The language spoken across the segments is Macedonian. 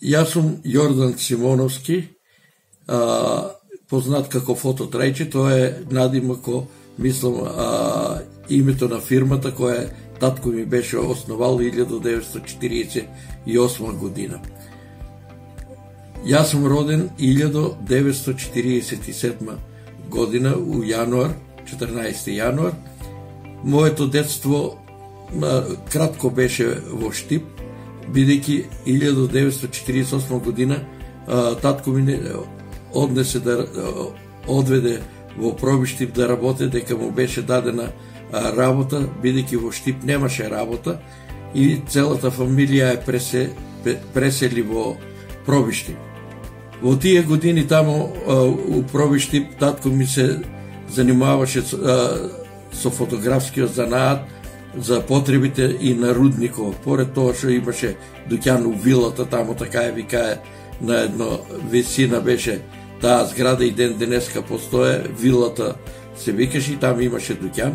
Јас сум Јордан Симоновски, познат како Фото Трајче, тоа е надимако, мислам, името на фирмата која татко ми беше основал 1948 година. Јас сум роден 1947 година у јануар, 14 јануар. Моето детство кратко беше во Штип, бидејќи 1948 година татко ми однесе да одведе во Пробиштип да работи, дека му беше дадена работа, бидејќи во Штип немаше работа и целата фамилија е пресели во Пробиштип. Во тие години таму у Пробиштип татко ми се занимаваше со фотографскиот занаат за потребите и на рудникот. Поред тоа што имаше дуќан у вилата таму, така е викае, на едно висина беше таа зграда и ден денеска постоje, вилата се викаше и таму имаше дуќан.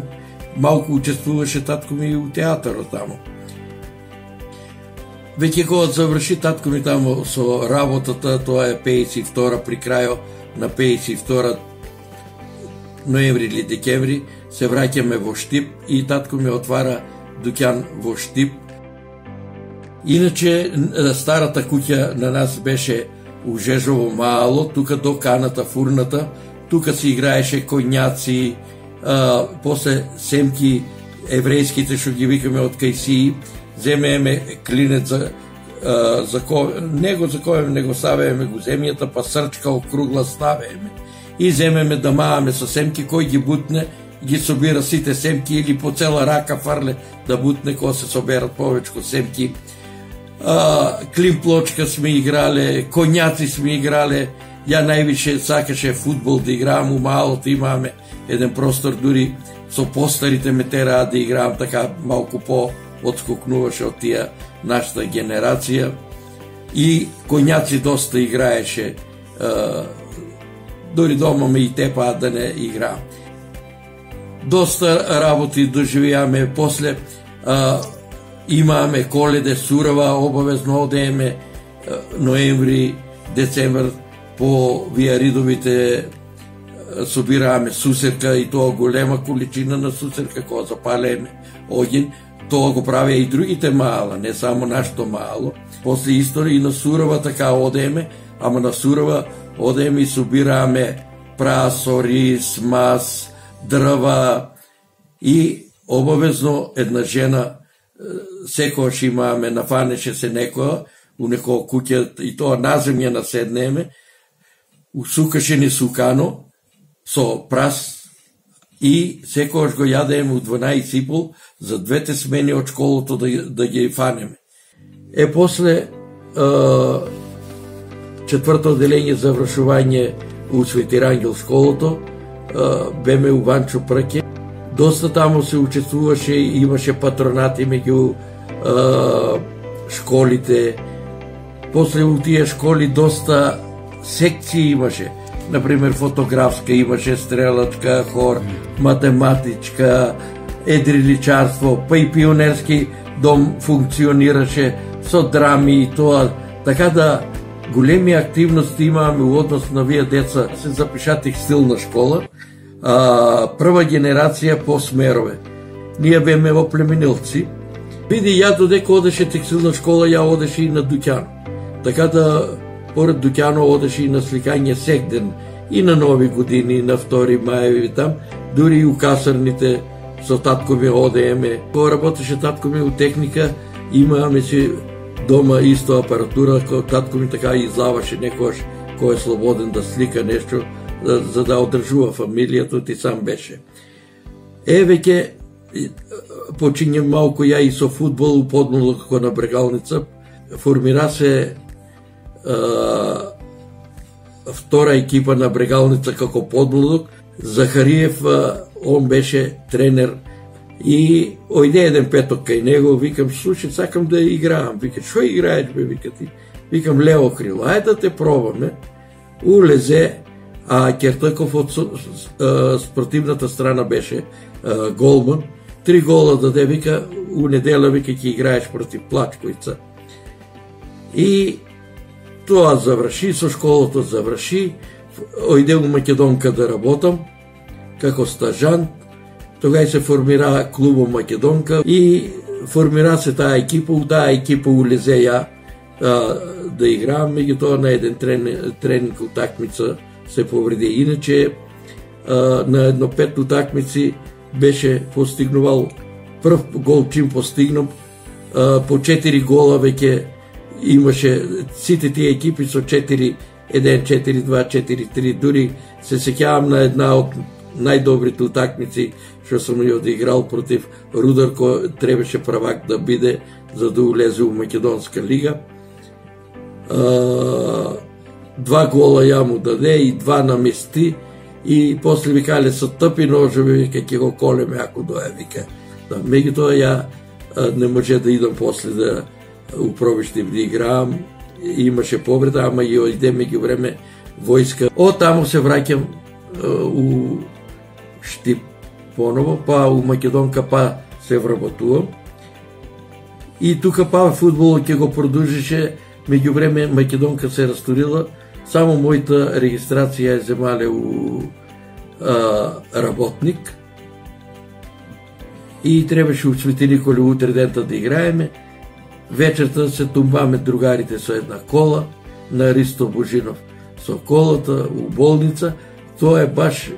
Малку учествуваше татко ми у театарот таму. Веќе кога заврши татко ми таму со работата, тоа е 52 при крајот на 52 ноември или декември, се враќаме во Штип и татко ми отвара дуќан во Штип. Иначе старата куќа на нас беше у Жежово мало, тука до каната фурната, тука се играеше коњаци, после семки еврејските што ги викаме од кајсии, земеме клинет за него за кој него ставеме го земјата, па срчка округла ставеме и земеме да мааме со семки, кој ги бутне ги собира сите семки или по цела рака фарле да бутне кога се соберат повечко семки. Климплочка сме играле, коњаци сме играле. Ја највише сакаше фудбал да играам, у малото имаме еден простор, дури со постарите ме тераа да играам, така малку по отскокнуваше од тие нашата генерација. И коњаци доста играеше, дури дома ме и тепаат да не играам. Доста работи доживеаме, после имаме Коледе, Сурава, обавезно одееме ноември, децемвр, по виаридовите собирааме сусерка и тоа голема количина на сусерка кога запалеме оѓен. Тоа го правеа и другите мала, не само нашето мало. После исто и на Сурава така одееме, ама на Сурава одееме и собирааме прасо, рис, мас, дрва и обавезно една жена секојаш имаме, нафанеше се некоја у некоја куќа и тоа на земја наседнеме, усукаше ни сукано со прас и секојаш го јадеме у 12:30 за двете смени од школото да ги фанеме. После четврто одделение за вршување у Свети Рангел школото, беме у Ванчо Прке. Доста таму се учествуваше и имаше патронати меѓу школите. После у тие школи доста секции имаше. Например, фотографска имаше, стрелачка, хор, математичка, едриличарство, па и пионерски дом функционираше со драми и тоа. Така да големи активности имаме у однос на вие деца. Се запиша текстилна школа, прва генерација по смерове. Ние беме оплеменилци. Види, ја додека одеше текстилна школа, ја одеше и на дуќан. Така да, поред дуќано одеше и на сликање сек ден, и на Нови години, и на 2 мајеви там, дури и у касарните со татко ми одееме. Кога работеше татко ми у техника, имаме си дома исто апаратура, кој татко ми така излаваше некојаш кој е слободен да слика нешто, за да одржува фамилијата, ти сам беше. Веќе почињам малку ја и со фудбал у Подмлок како на Брегалница. Формира се втора екипа на Брегалница како Подмлок. Захариев, он беше тренер и ојде еден петок кај него, викам, слушай, сакам да играам. Вика, шо играеш бе, вика ти? Викам, лево крило, ајде да те пробаме. Улезе, а Кертаков од спортивната страна беше голман. 3 гола даде, вика, у недела, вика, ќе играеш против Плачковица. И Тоа заврши, со школата заврши, ојде у Македонка да работам, како стажант, тогава се формира клубот Македонка и формира се таа екипа, у таа екипа улезе ја да играм, меѓутоа на еден тренинг утакмица се повреди. Иначе на едно 5 утакмици беше постигнувал прв гол чим постигнав, по 4 гола веќе имаше сите тие екипи со 4-1, 4-2, 4-3, дури се сеќавам на една од најдобрите утакмици што сум ја одиграл против Рудар, кој требаше правак да биде за да улезе у Македонска лига. 2 гола ја му даде и 2 намести и после викале со тъпи ножови, вика ќе го колеме ако дое, вика. Да, меѓутоа ја не може да идам после да упробиштив да играам, имаше повреда, ама и ојде меѓу време војска. Од таму се враќам у Штип поново, па у Македонка, па се вработувам. И тука па фудбалот ќе го продолжише, меѓу време Македонка се растурила, само мојата регистрација е земале у работник и требаше у Свети Николе утре дента да играеме. Вечерта се тумбаме другарите со една кола на Ристо Божинов со колата у болница. Тоа е баш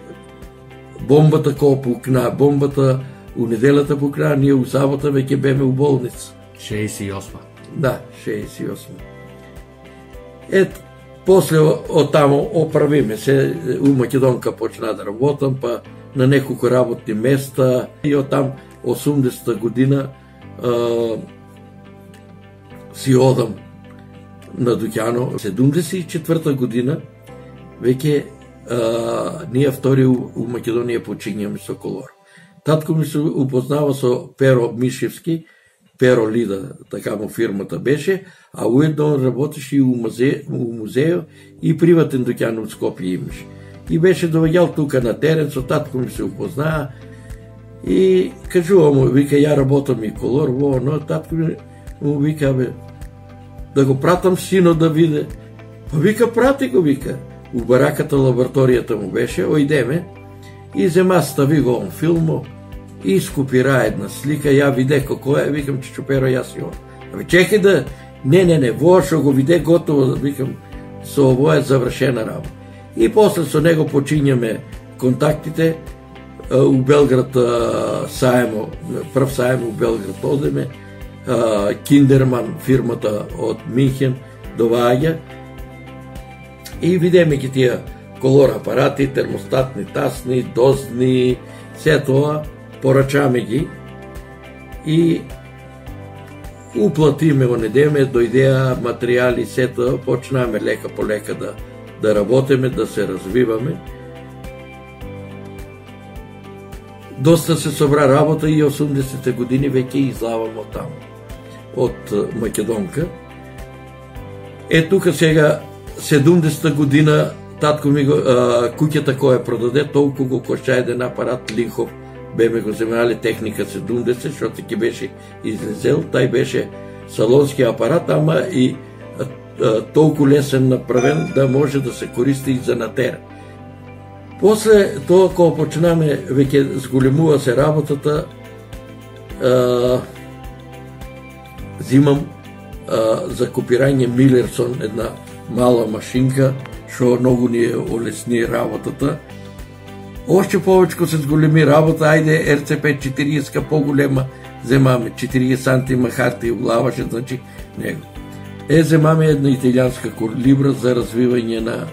бомбата која пукна, бомбата у неделата пукна, ние у сабота веќе беме у болница. 68. Да, 68. После од тамо оправиме се, у Македонка почна да работам, па на неколку работни места и од там 80-та година си одам на Дуќано. 74-та година веќе ние втори у Македонија почињаме со колор. Татко ми се упознава со Перо Мишевски, Перо Лида, така му фирмата беше, а уедно работеше и у музејо и приватен дуќан од Скопје имаше. И беше доаѓал тука на терен, со татко ми се упознаа и кажува му, вика, ја работам и колор, но татко ми му вика, бе, да го пратам сино да виде. Па вика, прати го, вика. У бараката лабораторијата му беше, ојдеме и зема стави го он филмо и скопира една слика, ја виде како е, викам, Чичо-Перо, јас и он. Абе, чекај да, не, во што го виде готово, викам, со ово е завршена работа. И после со него почињаме контактите, у Белград саемо, прв саемо у Белград одеме, Киндерман, фирмата од Минхен, доваѓа и видиме ги тие колор апарати, термостатни, тасни, дозни, се тоа, порачаме ги и уплатиме во недеме, дојдеа материјали, се тоа, почнаме лека по лека да работиме, да се развиваме. Доста се собра работа и 80-те години веќе излавам од таму, од Македонка. Тука сега 70-та година татко ми го куќата која продаде, толку го кошта еден апарат Линхов, беме го земале техника 70, што ќе беше излезел, тај беше салонски апарат, ама и толку лесен направен да може да се користи и за натера. После тоа, кога почнаме, веќе зголемува се работата, зимам за копирање Милерсон една мала машинка, што многу ни олесни работата. Още повечко се зголеми работа, ајде РЦП 40 поголема, земаме 40 сантима харти улаваше, значи него. Земаме една италијанска колибра за развивање на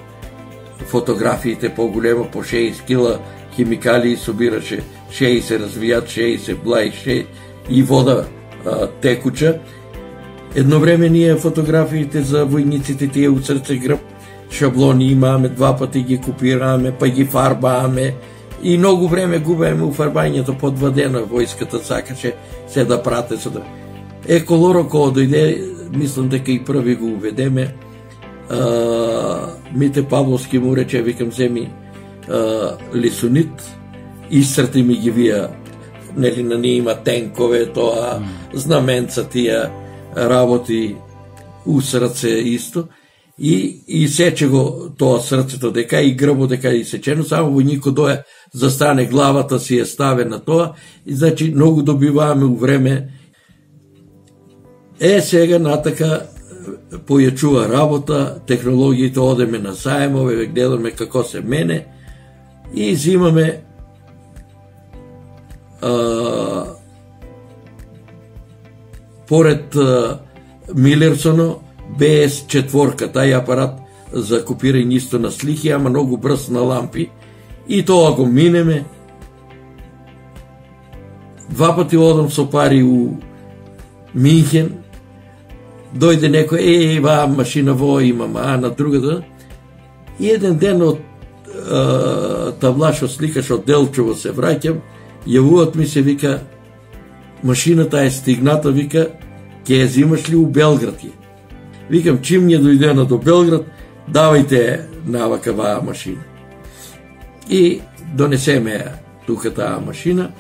фотографиите поголема, по 6 кила химикали собираше, 60 развијат, 60 блај, 6 и вода текуча. Едно време ние фотографиите за војниците тие у срце грб, шаблони имаме, 2 пати ги копираме, па ги фарбаме и многу време губеме у фарбањето, по 2 дена војската сакаше се да прате со да. Колоро кога дојде, мислам дека и први го уведеме, Мите Павловски му рече, викам, земи лисунит, исцрти ми ги вија, нели на ние има тенкове, тоа, знаменца тие работи, усраце исто, и сече го тоа срцето дека и грбот дека и сечено, само војникот дое застане, главата си е ставена тоа, и значи многу добиваме у време. Сега натака појачува работа, технологиите, одеме на сајмове, гледаме како се мене и взимаме поред Милерсоно BS4, тај апарат за копирање исто на слики, ама многу брз на лампи, и тоа го минеме. 2 пати одам со пари у Минхен, дојде некој, ваа машина во имам, на другата. И еден ден од Тавлашо сликаш од Делчево се враќам, јавуват ми се, вика, машината е стигната, вика, ќе ја зимаш ли у Белград ја? Викам, чим ја дојдена до Белград, давајте навака ваа машина. И донесеме ја тука таа машина.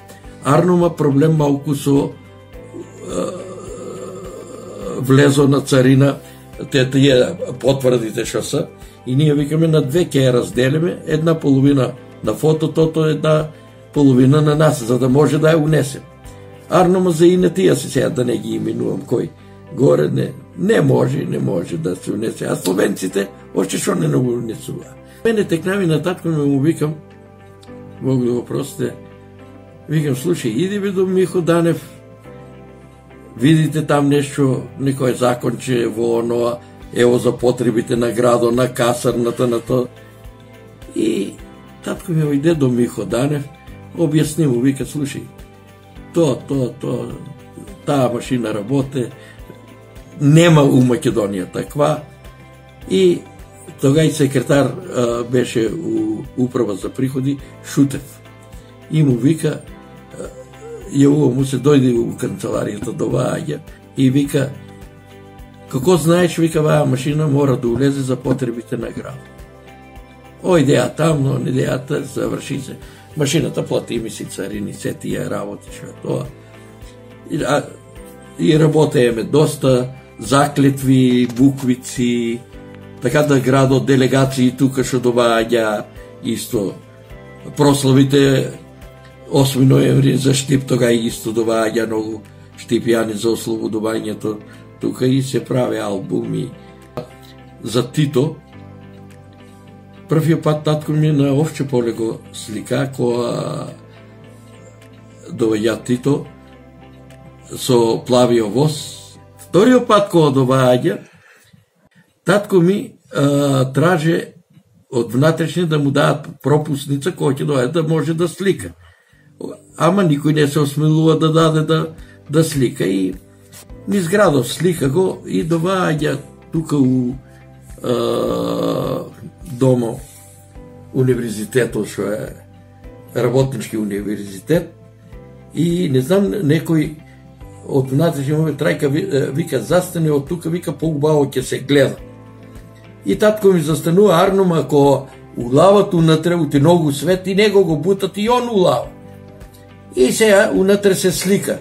Арнума проблем малку со влезо на царина, тие потврдите што се, и ние викаме на 2 ќе ја разделиме, една половина на фототото, една половина на нас, за да може да ја унесем. Арнума за инетија се сега да не ги именувам кој горе, не може да се унесе. А словенците още што не го унесува. Мене текнави на татко му викам, Бог да го простите, викам, слушай, иди бе до Михо Данев, видите там нешто, некој законче во оноа, ево за потребите на градо, на касарната, на тоа. И татко ми ојде до Михо Данев, објасни му, вика, слушай, таа машина работе, нема у Македонија таква. И тогај секретар беше у управа за приходи Шутев. И му вика, јавува му се, дојде у канцеларијата до ваѓа и вика, како знаеш, вика, ваа машина мора да улезе за потребите на град. Ојде ја тамно, не дејата, заврши се. Машината плати ми си царини, се тие работи, што е тоа. И работееме доста, заклетви, буквици, така да градот, делегации тука што доваѓа, исто прославите 8 ноември за Штип, тога исто доваѓа многу штипјани за ослободувањето, тука и се прави албуми. За Тито, првиот пат татко ми на Овче поле го слика, која доваѓа Тито со плавио воз. Вториот пат кога доваѓа, татко ми траже од внатрешни да му дадат пропусница која ќе дојде да може да слика. Ама никој не се осмелува да даде да слика, и низ градов слика го и доваѓа тука у домо универзитетот, што е работнички универзитет, и не знам, некој од внатрешни му трајка вика, застане од тука, вика, поубаво ќе се гледа. И татко ми застанува Арнум, ако улават унатре, ути многу свет, и него го бутат и он улава. И сега унатре се слика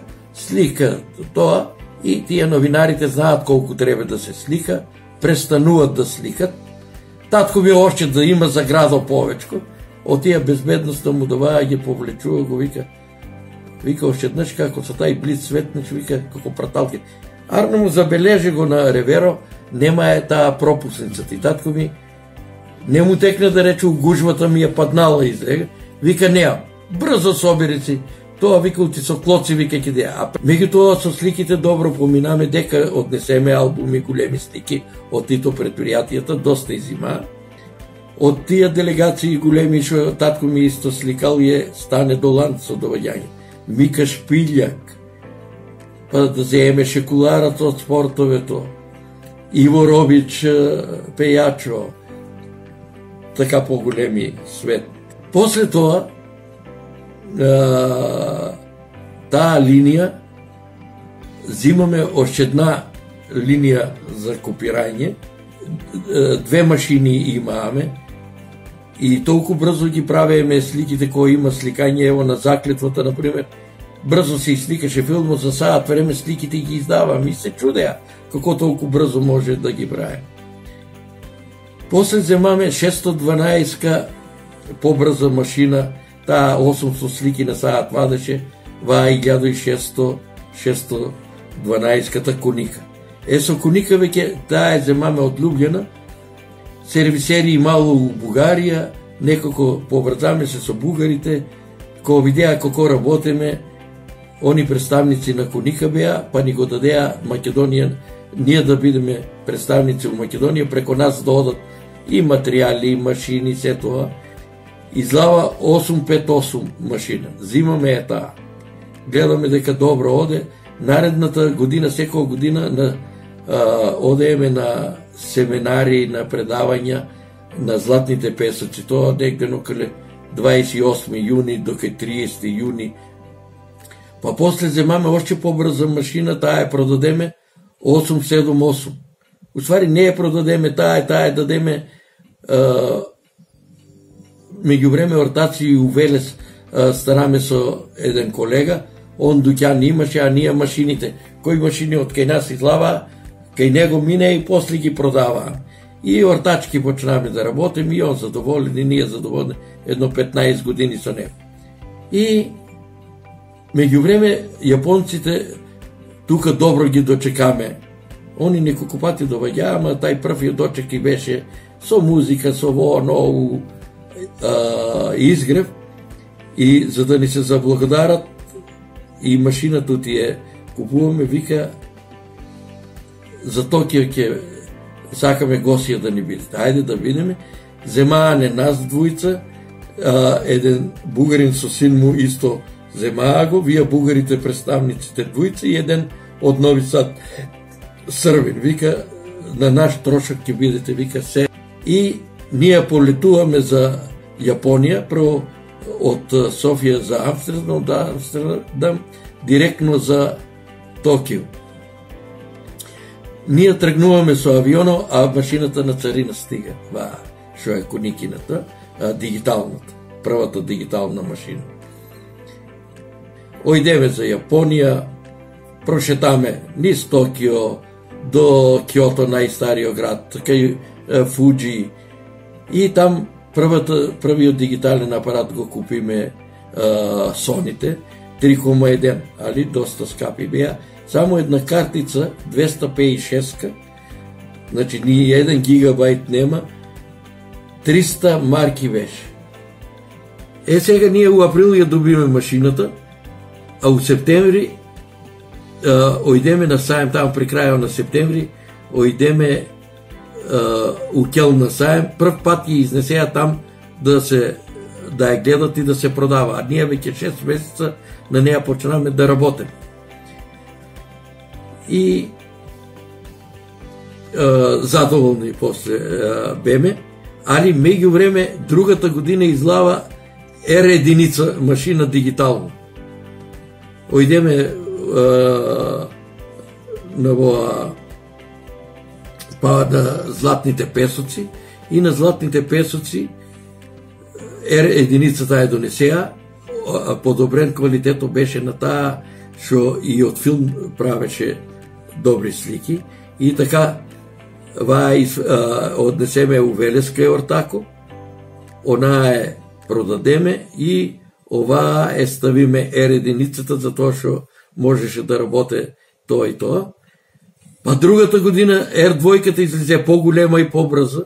тоа, и тие новинарите знаат колку треба да се слика, престануват да сликат. Татко ми още да има за градо повечко, од тие безбедноста му доваја ги повлечува, го вика, още еднаш како со тај блиц светнич, вика, како праталки. Арно му забележи го на реверо, нема е таа пропусницата, и татко ми не му текне да рече, гужвата ми е паднала изрега, вика, неам, брзо собери си, тоа, вика, ути со клоци, вика, ќе деја. А меѓутоа со сликите добро поминаме, дека однесеме албуми, големи слики од Тито предпријатијата, доста изима. Од тие делегации големи што татко ми исто сликал е Стане Долан со доваѓање, Мика Шпиљак, па да земе Шекуларат од спортовето, Иво Робич, пејачо, така поголеми свет. После тоа, таа линија, зимаме още една линија за копирање, 2 машини имаме, и толку брзо ги правеме сликите кои има сликање, ево на Заклетвата, например, брзо се сликаше филмот, за саат време сликите ги издавам и се чудеа како толку брзо може да ги прави. После земаме 612 побрза машина, таа 800 слики на саат вадеше, ваа 1612 коника. Со коника веќе таа е земаме од Лубљана, сервисери имало у Бугарија, некако побрзаме се со бугарите, кога видеа како работиме, они представници на коника беа, па ни го дадеа Македонија, ние да бидеме представници у Македонија, преко нас да одат и материјали, и машини, се тоа. Излава 858 машина. Зимаме е таа. Гледаме дека добро оде. Наредната година, секоја година, одееме на семинари, на предавања на златните песоци. Тоа негде околу 28 јуни до 30 јуни. Па после земаме още побрза машина, таа е продадеме 878. Уствари не е продадеме таа е дадеме меѓувреме ортаци и увелес стараме со еден колега, он дуќан имаше, а ние машините, кои машини од кај нас излава, кај него мине и после ги продаваа. И ортачки почнаме да работим, и он задоволен, и ние задоволни, едно 15 години со него. И меѓувреме јапонците тука добро ги дочекаме. Они неколку пати доаѓаа, ама тај првиот дочек и беше со музика, со нову изгрев, и за да ни се заблагодарат и машината ти е купуваме, вика за Токио ќе сакаме гостија да ни бидете. Ајде да бидеме. Земаа не нас двојца, еден бугарин со син му исто земаа го, вие бугарите представниците двојца и еден од Нови Сад Србин. Вика на наш трошок ќе бидете, вика се. И ние полетуваме за Јапонија, прво од Софија за Амстердам, да Амстердам, директно за Токио. Ние тргнуваме со авионо, а машината на царина стига. Шо е коникината, дигиталната, првата дигитална машина. Ојдеме за Јапонија, прошетаме низ Токио до Киото, најстариот град, кај Фуджи, и там првиот дигитален апарат го купиме Соните, 3,1, али доста скапи беа. Само една картица, 256, значи ни 1 гигабайт нема, 300 марки беше. Сега ние у април ја добиме машината, а у септември ојдеме на сајм, таму при крајот на септември, ојдеме у Кел на сајм, прв пат ја изнесеа там да ја гледат и да се продава, а ние веќе 6 месеца на неја почнаме да работиме. И задоволни после беме, али меѓувреме другата година излава R1 машина дигитално. Ојдеме на златните песоци, и на златните песоци R1 таа донесеа, подобрен квалитетот беше на таа, што и од филм правеше добри слики, и така однесеме у Велеска ортако, онаа е продадеме и оваа е ставиме R1 за тоа што можеше да работе тоа и тоа. Па другата година R2 излезе поголема и побрза,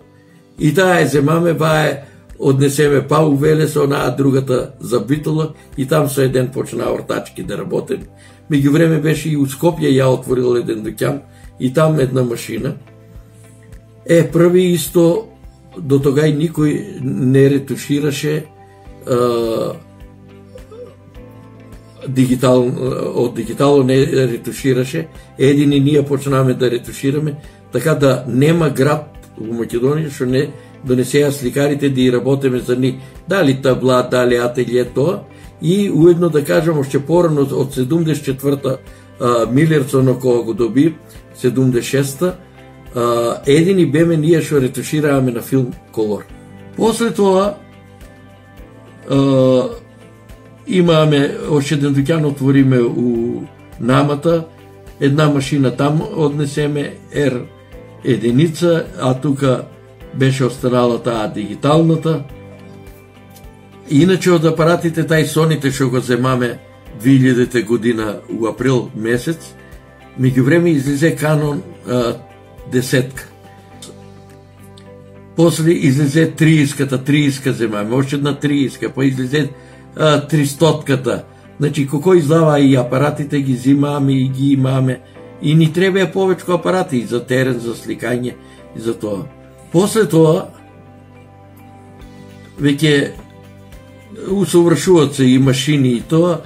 и таа е земаме, ваа е однесеме па у Велес, онаа другата за Битола, и там со еден почна ортачки да работи. Меѓувреме беше и у Скопје ја отворил еден дуќан, и там една машина. Први исто, до тогај никој не ретушираше од дигитално не ретушираше, едини ние почнаме да ретушираме, така да нема град во Македонија што не донесеа сликарите да и работиме за ни, дали табла, дали ателје тоа, и уедно да кажам, още порано од 74-та Милерсон кога го доби, 76-та, едини беме ние што ретушираваме на филм колор. После тоа имаме още еден дуќан, отвориме у Намата, една машина там однесеме R1, а тука беше останала таа дигиталната. Иначе од апаратите тај Соните што го земаме 2000 година у април месец, меѓувреме излезе Canon 10. После излезе 30-ка земаме, още една 30-ка, па излезе 300-ката. Значи, како издава и апаратите ги зимаме и ги имаме. И ни треба повечко апарати и за терен, за сликање и за тоа. После тоа, веќе усовршуваат се и машини и тоа,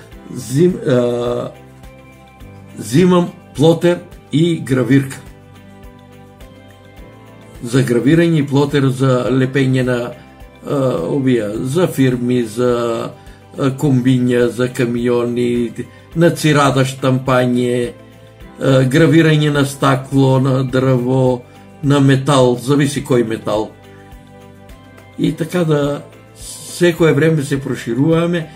зимам плотер и гравирка. За гравирање и плотер за лепење на за фирми, за комбиња, за камиони, на цирада штампање, гравирање на стакло, на дрво, на метал, зависи кој метал. И така да секое време се прошируваме.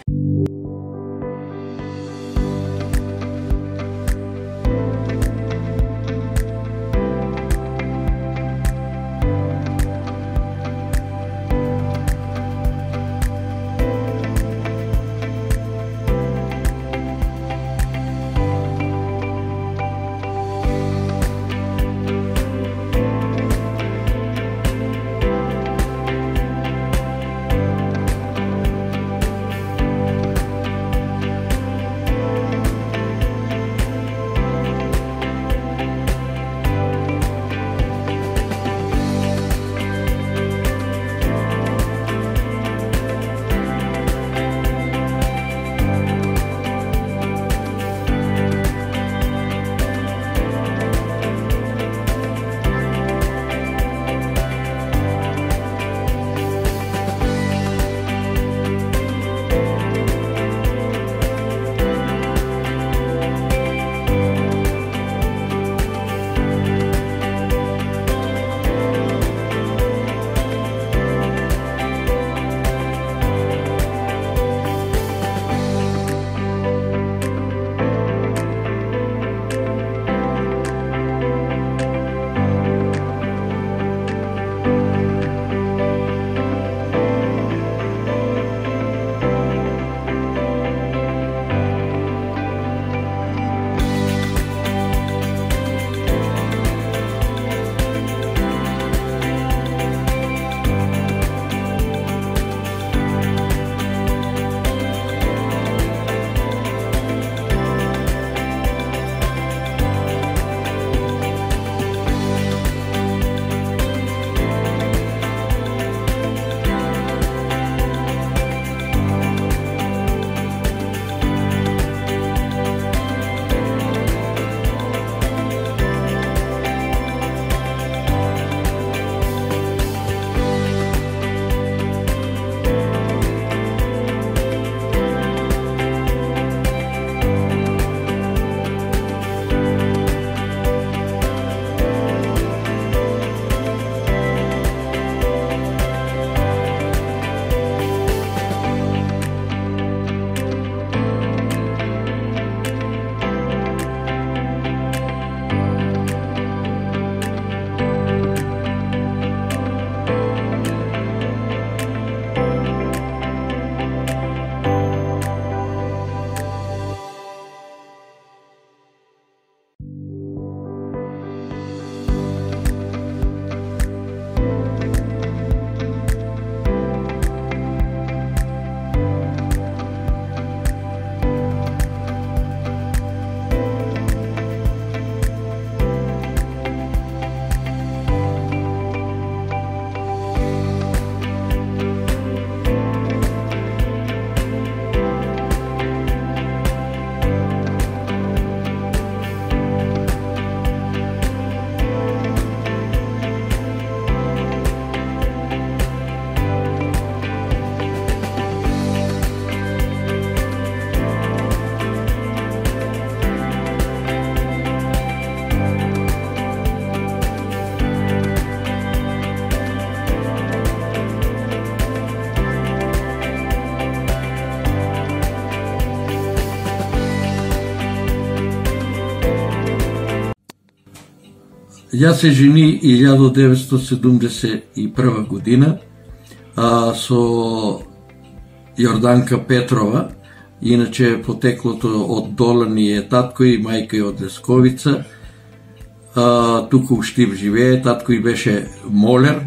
Јас се жени 1971 година со Јорданка Петрова, иначе потеклото од Долани е татко и мајка е од Лесковица. Туку у Штип живее, татко и беше молер.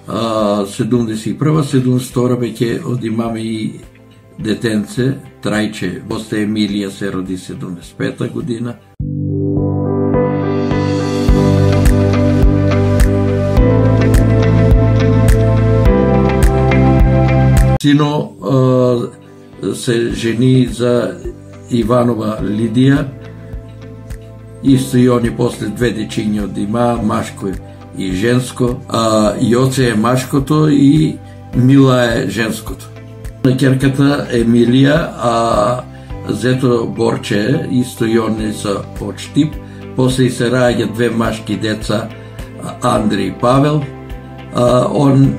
71-72 веќе од имаме и детенце, трајче, Боста Емилија се роди 75 година. Сино се жени за Иванова Лидија, исто и они после две дечиња од има, машко и женско, Јоце е машкото и Мила е женското. На ќерката Емилија, зето Борче, исто и они са од Штип, после и се раѓа две машки деца, Андри и Павел, он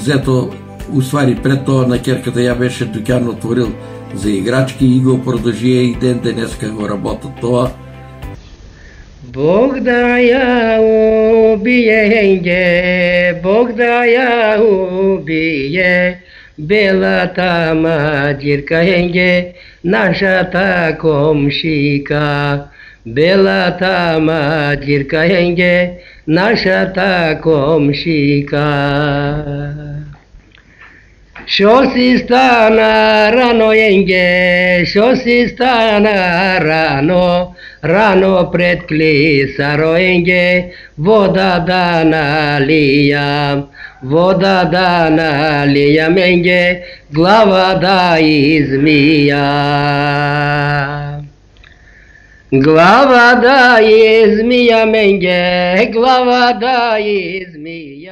зето уствари пред тоа на ќерката ја беше дуќан отворил за играчки и го продолжија и ден денеска го работа тоа. Бог да ја убие, Бог да ја убие, белата маđирка енге, нашата комшика. Белата маđирка енге, нашата комшика. Шо си стана рано енге, шо си стана рано, рано пред клисаро енге, вода да налијам, вода да налијам енге, глава да измијам. Глава да измијам енге, глава да измијам.